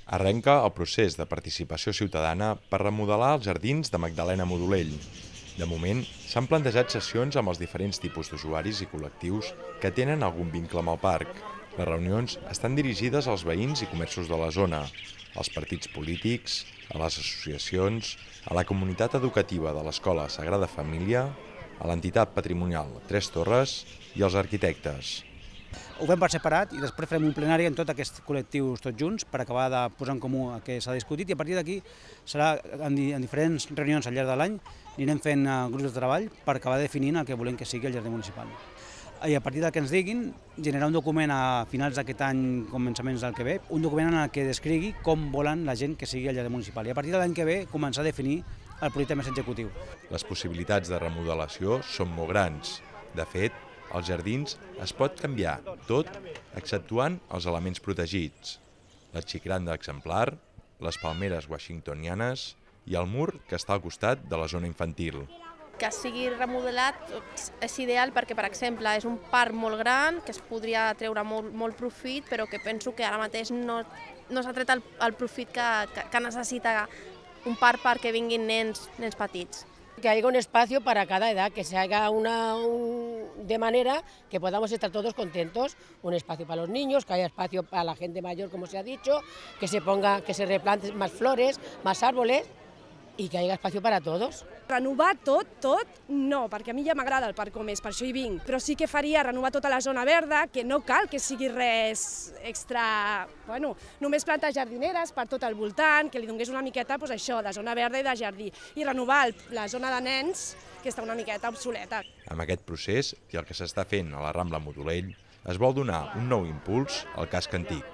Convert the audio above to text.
Arrenca el procés de participació ciutadana per remodelar els jardins de Magdalena Modolell. De moment, s'han plantejat sessions amb els diferents tipus d'usuaris i col·lectius que tenen algun vincle amb el parc. Les reunions estan dirigides als veïns i comerços de la zona, als partits polítics, a les associacions, a la comunitat educativa de l'Escola Sagrada Família, a l'entitat patrimonial Tres Torres i als arquitectes. Ho fem per separat i després farem un plenari en tots aquests col·lectius tots junts per acabar de posar en comú el que s'ha discutit i a partir d'aquí serà en diferents reunions al llarg de l'any anirem fent grups de treball per acabar definint el que volem que sigui el jardí municipal. I a partir del que ens diguin, generar un document a finals d'aquest any, començaments del que ve, un document en el que descrigui com volen la gent que sigui el jardí municipal i a partir de l'any que ve començar a definir el projecte més executiu. Les possibilitats de remodelació són molt grans. De fet, als jardins es pot canviar tot exceptuant els elements protegits, la xicranda exemplar, les palmeres washingtonianes i el mur que està al costat de la zona infantil. Que sigui remodelat és ideal perquè, per exemple, és un parc molt gran que es podria treure molt profit, però que penso que ara mateix no s'ha tret el profit que necessita un parc perquè vinguin nens petits. Que haya un espacio para cada edad, que se haga de manera que podamos estar todos contentos, un espacio para los niños, que haya espacio para la gente mayor, como se ha dicho, que se replanten más flores, más árboles i que hi hagi espacio per a tots. Renovar tot, no, perquè a mi ja m'agrada el parc com és, per això hi vinc, però sí que faria renovar tota la zona verda, que no cal que sigui res extra, bueno, només plantes jardineres per tot el voltant, que li donés una miqueta, doncs això, de zona verda i de jardí, i renovar la zona de nens, que està una miqueta obsoleta. Amb aquest procés i el que s'està fent a la Rambla Modolell, es vol donar un nou impuls al casc antic.